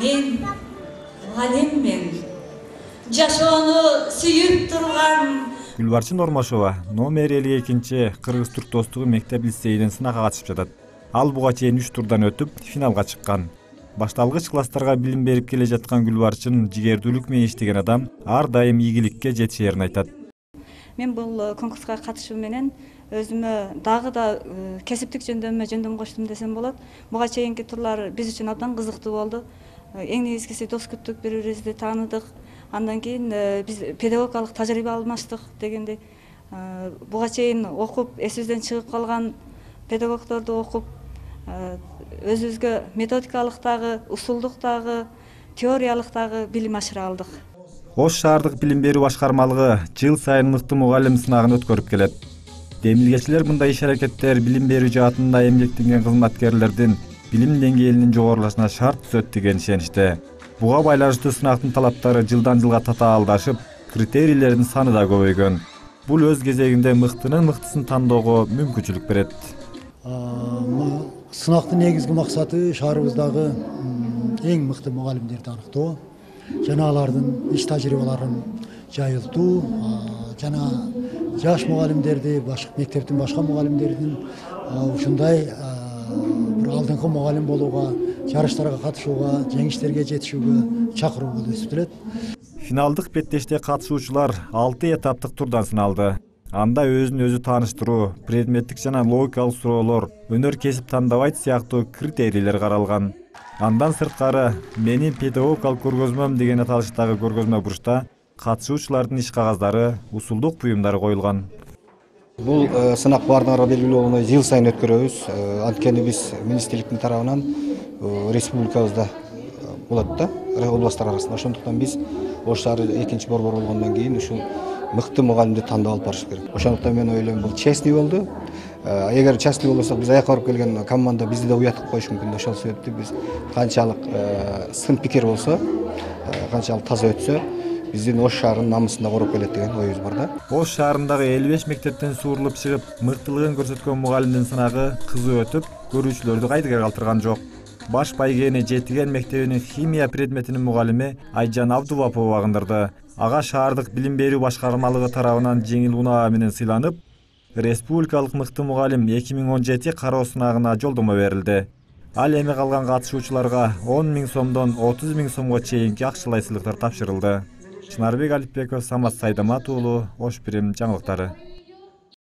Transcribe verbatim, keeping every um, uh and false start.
Мен мугалиммин. Жашоону сүйүп турган. Гүлбарчын Ормашова номер элүү экинчи Кыргыз-Түрк достугу мектеп лицейинин сынакка катышып жатат. Ал буга чейин үч турдан өтүп, финалга чыккан. Башталгыч класстарга билим берип келе жаткан Гүлбарчын жигердүүлүк менен иштеген адам ар дайым ийгиликке жетишерин айтат. Мен бул конкурска катышуу менен өзүмө дагы да кесиптик жөндөмүмө жөндөм коштум десем болот. Буга чейинки турлар биз үчүн абдан кызыктуу болду. Эң негизгиси дос күттүк, бири-бирибизди тааныдык. Андан кийин биз педагогикалык тажрыйба алмаштык дегенде буга чейин окуп эсибизден чыгып калган педагогдорду окуп өзүбүзгө методикалык дагы, усулдук дагы, теориялык дагы билим ашыра алдык. Ош шаардык билим берүү башкармалыгы жыл сайын мыкты мугалим сынагын өткөрүп келет. Демилгечилер мындай иш-аракеттер билим берүү жаатында эмгектенген кызматкерлердин билим деңгээлинин жогорулашына шарт түзөт деген ишеничте. Буга байланыштуу сынактын талаптары жылдан жылга татаалдашып, критерийлердин саны да көбөйгөн. Бул өз кезегинде мыктынын мыктысын тандоого мүмкүнчүлүк берет. Сынактын негизги максаты шаарыбыздагы эң мыкты мугалимдерди аныктоо, жана алардын иш тажрыйбаларын жайылтуу, жана жаш мугалимдерди, мектептин башка мугалимдердин ушундай бир алдыңкы мугалим болууга, жарыштарга катышууга, жеңиштерге жетишүүгө чакыруу болуп эсептелет. Финалдык беттеште катышуучулар алты этаптык турдан сыналды. Анда өзүн өзү тааныштыруу, предметтик жана логикалык суроолор, өнөр кесип тандабайт сыяктуу критерийлер каралган. Андан сырткары менин педагогикалык көргөзмөм деген аталыштагы көргөзмө бурчта катышуучулардын иш кагаздары, усулдук буюмдары коюлган. Бул сынак баардыгына белгилүү болгондой жыл сайын өткөрөбүз. Анткени биз министрликтин тарабынан республикабызда болот да, областтар арасында. Ошондуктан биз Ош шаары экинчи борбор болгондон кийин ушул мыкты мугалимди тандап алып барыш керек. Ошондуктан мен ойлойм, бул честный болду. Эгер честный болбосок, биз аякка барып келген команда бизди да уятып коюшу мүмкүн. Ошол себептен биз канчалык сын пикир болсо, канчалык таза өтсө, биздин Ош шаарынын намысын да короп келет деген оюбуз бар да. Ош шаарындагы элүү беш мектептен суурулуп чыгып, мыктылыгын көрсөткөн мугалимдин сынагы кызуу өтүп, көрүүчүлөрдү кайдыга калтырган жок. Баш байгени Жетиген мектебинин химия предметинин мугалими Айжан Абдулапова багындырды. Ага шаардык билим берүү башкармалыгы тарабынан жеңил унаа менен сыйланып, республикалык мыкты мугалим эки миң он жети кароо сынагына жолдомо берилди. Ал эми калган катышуучуларга он миң сомдон отуз миң сомго чейинки акчалай сыйлыктар тапшырылды. Чынарбек Алипбеков, Самат Сайдамат уулу, Ош Бирим жаңылыктары.